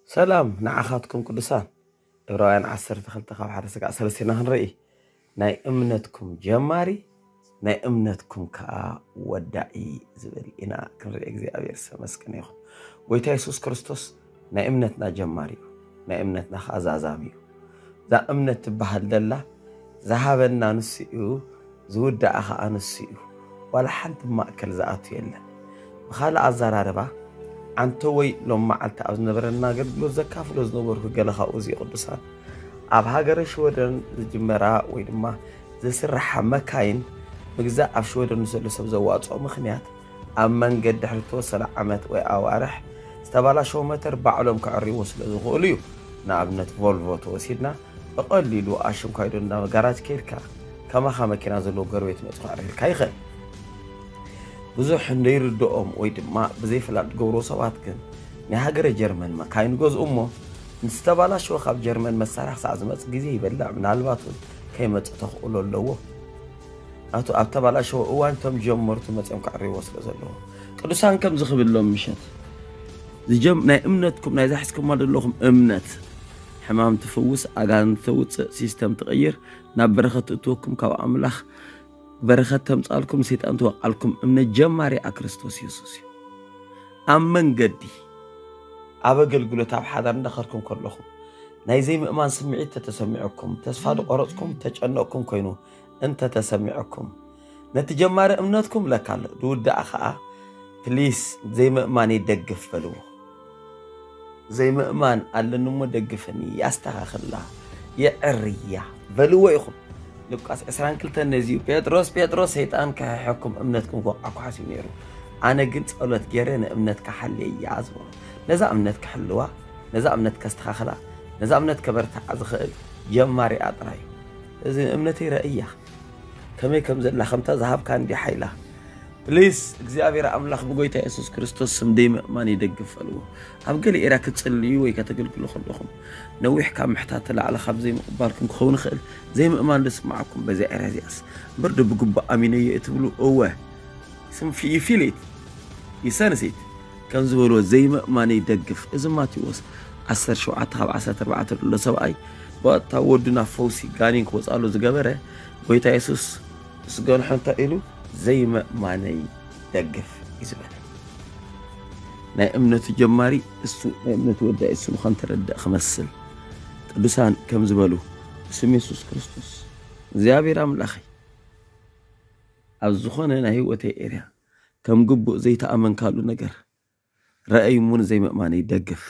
ሰላም ንዓኻትኩም ቅዱሳን። ዕብራውያን ዓሰርተ ክልተ ካብ ሓደ ስጋዕ ሰለስተ ኢና ክንርኢ። ናይ እምነትኩም ጀማሪ ናይ እምነትኩም ከዓ ወዳኢ ዝብል ኢና ክንርኢ። እግዚኣብሔር ዝተመስገነ ይኹን። ጎይታ የሱስ ክርስቶስ ናይ እምነትና ጀማሪ እዩ፣ ናይ እምነትና ከዓ ዛዛሚ እዩ። እዛ እምነት ትበሃል ደላ ዝሃበና ንሱ እዩ፣ ዝውዳኣ ከዓ ንሱ እዩ። ዋላ ሓንቲ ማእከል ዝኣቱ የለን። ብኻልእ ኣዘራርባ ዓንተ ወይ ሎም መዓልቲ ኣብ ዝነበረና ኣገልግሎት ዘካፍሎ ዝነበርኩ ገለ ካብኡ እዚ ቅዱሳን ኣብ ሃገረ ሽወደን ዝጅመራ ወይ ድማ ዝስራሓ መካይን ምግዛእ ኣብ ሽወደን ንዘሎ ሰብ ዘዋፅኦ ምኽንያት ኣብ መንገድ ድሕሪ ተወሰነ ዓመት ወይ ኣዋርሕ ዝተባላሸወ መተር ባዕሎም ከዕርይዎ ስለ ዝኽእሉ እዩ። ንኣብነት ቮልቮ ተወሲድና ብቐሊሉ ኣሽንኳይዶ እንዳጋራጅ ከይድካ ከማኻ መኪና ዘለዎ ጎረቤት መፅእ ክዕርየልካ ይኽእል። ብዙሕ እንደይርድኦም ወይ ድማ ብዘይፍላጥ ዝገብርዎ ሰባት ግን ናይ ሃገረ ጀርመን መካይን ገዝኡ እሞ ምስ ተባላሸወ ካብ ጀርመን መሳርያ ክሳዕ ዝመፅእ ግዜ ይበልዕ፣ ምናልባት እውን ከይመፅእ ተኽእሎ ኣለዎ። ናቱ ኣብ ተባላሸወ እዋን እቶም ጀመርቱ መፅኦም ከዕርይዎ ስለ ዘለዎ ቅዱሳን ከምዚ ክብሎም ምሸት ዝጀም ናይ እምነትኩም ናይዛ ሒዝኩማ ዘለኹም እምነት ሕማም ትፍውስ፣ ኣጋንንቲ ተውፅእ፣ ሲስተም ትቕይር፣ ናብ በረኸት ትእትወኩም፣ ካብ ኣምላኽ በረኸት ተምፃልኩም፣ ሰይጣን ትወቃልኩም እምነት ጀማሪኣ ክርስቶስ የሱስ እዩ። ኣብ መንገዲ ኣብ ኣገልግሎት ኣብ ሓዳር እንዳኸድኩም ከለኹም ናይ ዘይምእማን ስምዒት ተተሰሚዑኩም፣ ተስፋ ዝቆረፅኩም ተጨነቕኩም ኮይኑ እንተተሰሚዑኩም ነቲ ጀማሪ እምነትኩም ለካ ኣሎ ዝውዳኣ ከዓ ፕሊስ ዘይምእማን ይደግፍ በልዎ። ዘይምእማን ኣለኒ እሞ ደግፍኒ፣ ያስተኻኽላ፣ የዕርያ በልዎ ኢኹም። ሉቃስ ዕስራን ክልተን ነዚ እዩ፣ ጴጥሮስ ጴጥሮስ ሰይጣን ክሕሐኩም እምነትኩም ክወቕዓኩ ሓሲቡ ነይሩ፣ ኣነ ግን ጸሎት ገይረ ንእምነትካ ሓልየያ ዝበሎ። ነዛ እምነት ክሕልዋ፣ ነዛ እምነት ከስተኻኽላ፣ ነዛ እምነት ከበርትዓ ዝኽእል ጀማሪኣ ጥራይ እዩ። እዚ እምነተይ ረእያ ከመይ ከም ዘላ ከምታ ዝሃብካ እንዲ ሓይላ ፕሊስ እግዚኣብሔር ኣምላኽ ብጎይታ የሱስ ክርስቶስ ስም ደይ ምእማን ይደግፍ በልዎ። ኣብ ገለ ኤርያ ክትጽልዩ ወይ ከተገልግሉ ከለኹም ነዊሕ ካብ ምሕታት ተላዕለ ካብ ዘይምቕባልኩም ክኸውን ይኽእል። ዘይምእማን ዝስምዓኩም በዚያ ኤርያ እዚኣስ እምበር ዶ ብግቡእ ኣሚነዮ እትብሉ እወ ስም ይፊሊት ይሰንሲት ከም ዝበልዎ ዘይምእማን ይደግፍ። እዚ ማቴዎስ ዓሰርተ ሸውዓተ ካብ ዓሰርተ ኣርባዕተ ዘሎ ሰብኣይ ብቐጥታ ወዱ ናብ ፈውሲ ጋኔን ክወፅኣሉ ዝገበረ ጎይታ የሱስ ምስ ገንሖ እንታይ ኢሉ? ዘይምእማነይ ደግፍ እዩ ዝበለ። ናይ እምነቱ ጀማሪ እሱ ናይ እምነቱ ወዳኢ እሱ ምዃን ተረድእ ክመስል ቅዱሳን ከም ዝበሉ ብስም የሱስ ክርስቶስ እግዚኣብሔር ኣምላኸይ ኣብ ዝኾነ ናይ ህይወተይ ኤርያ ከም ግቡእ ዘይተኣመንካሉ ነገር ረኣይ እሞ ንዘይምእማነይ ደግፍ።